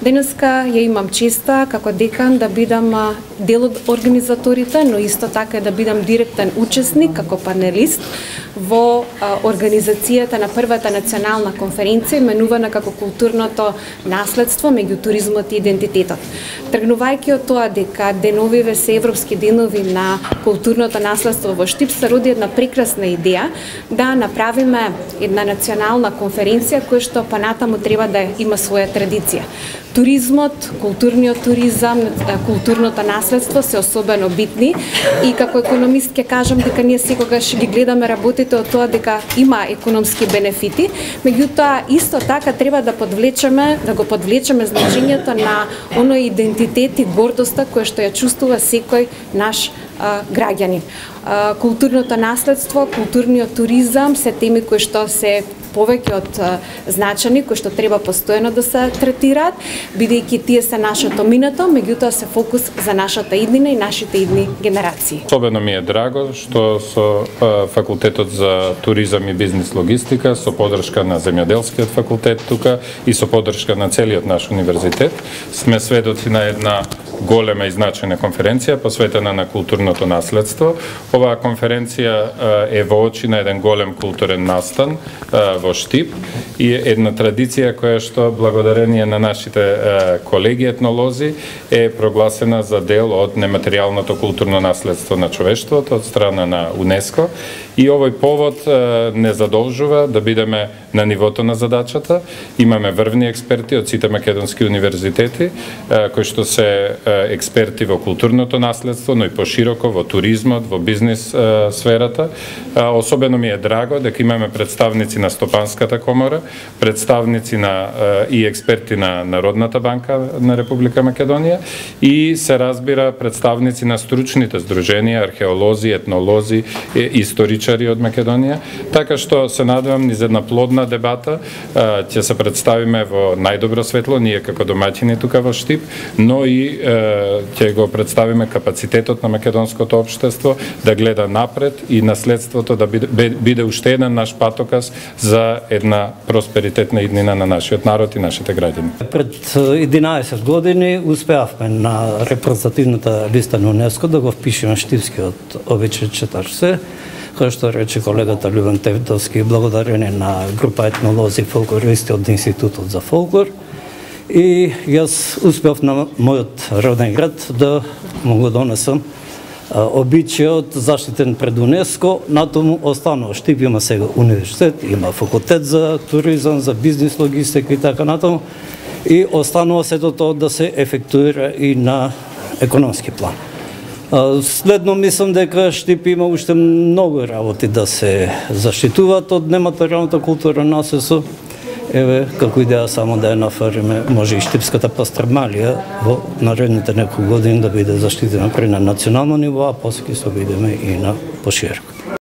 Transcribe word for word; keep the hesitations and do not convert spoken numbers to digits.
Денеска ја имам честа како декан да бидам дел од организаторите, но исто така да бидам директен учесник како панелист во организацијата на првата национална конференција именувана како културното наследство меѓу туризмот и идентитетот. Тргнувајќи од тоа дека деновиве се европски денови на културното наследство во Штип, се роди една прекрасна идеја да направиме една национална конференција која што понатаму треба да има своја традиција. Туризмот, културниот туризам, културното наследство се особено битни и како економист ќе кажам дека ние секогаш ги гледаме работите од тоа дека има економски бенефити, меѓутоа исто така треба да подвлечеме, да го подвлечеме значењето на оној идентитет и гордоста која што ја чувствува секој наш а, граѓанин. А, културното наследство, културниот туризам се теми кои што се повеќе од значени, кои што треба постојано да се третираат, бидејќи тие се нашето минато, меѓутоа се фокус за нашата иднина и нашите идни генерации. Особено ми е драго што со факултетот за туризам и бизнис логистика, со поддршка на земјоделскиот факултет тука и со поддршка на целиот наш универзитет, сме сведоци на една голема и значајна конференција посветена на културното наследство. Оваа конференција е во очи на еден голем културен настан во Штип и една традиција која што благодарение на нашите колеги етнолози е прогласена за дел од нематеријалното културно наследство на човештвото од страна на УНЕСКО и овој повод не задолжува да бидеме на нивото на задачата. Имаме врвни експерти од сите македонски универзитети кои што се експерти во културното наследство, но и пошироко во туризмот, во бизнис сферата. Особено ми е драго дека имаме представници на Стопанската комора, представници на и експерти на Народната банка на Република Македонија и се разбира представници на стручните здруженија, археолози, етнолози, историчари од Македонија. Така што се надевам низ една плодна дебата ќе се представиме во најдобро светло ние како домаќини тука во Штип, но и ќе го представиме капацитетот на македонското општество да гледа напред и наследството да биде, биде уште еден наш патоказ за една просперитетна иднина на нашиот народ и нашите граѓани. Пред единаесет години успеавме на репрезентативната листа на УНЕСКО да го впишеме Штипскиот обичај четиридесет се, кој што рече колегата Љубен Тевтовски, благодарение на група етнолози и фолклористи од Институтот за фолклор. И јас успеав на мојот роден град да му го донесам обичајот заштитен пред УНЕСКО, натаму останува Штип има сега универзитет, има факултет за туризам, за бизнис логистика и така натаму, и останува сето тоа да се ефектуира и на економски план. Следно мислам дека Штип има уште многу работи да се заштитуваат од нематеријалната култура наследство. Еве, како идеја само да ја нафариме, може и Штипската пастрмалија во наредните неколку години да биде заштитена при на национално ниво, а после ќе се обидеме и на пошироко.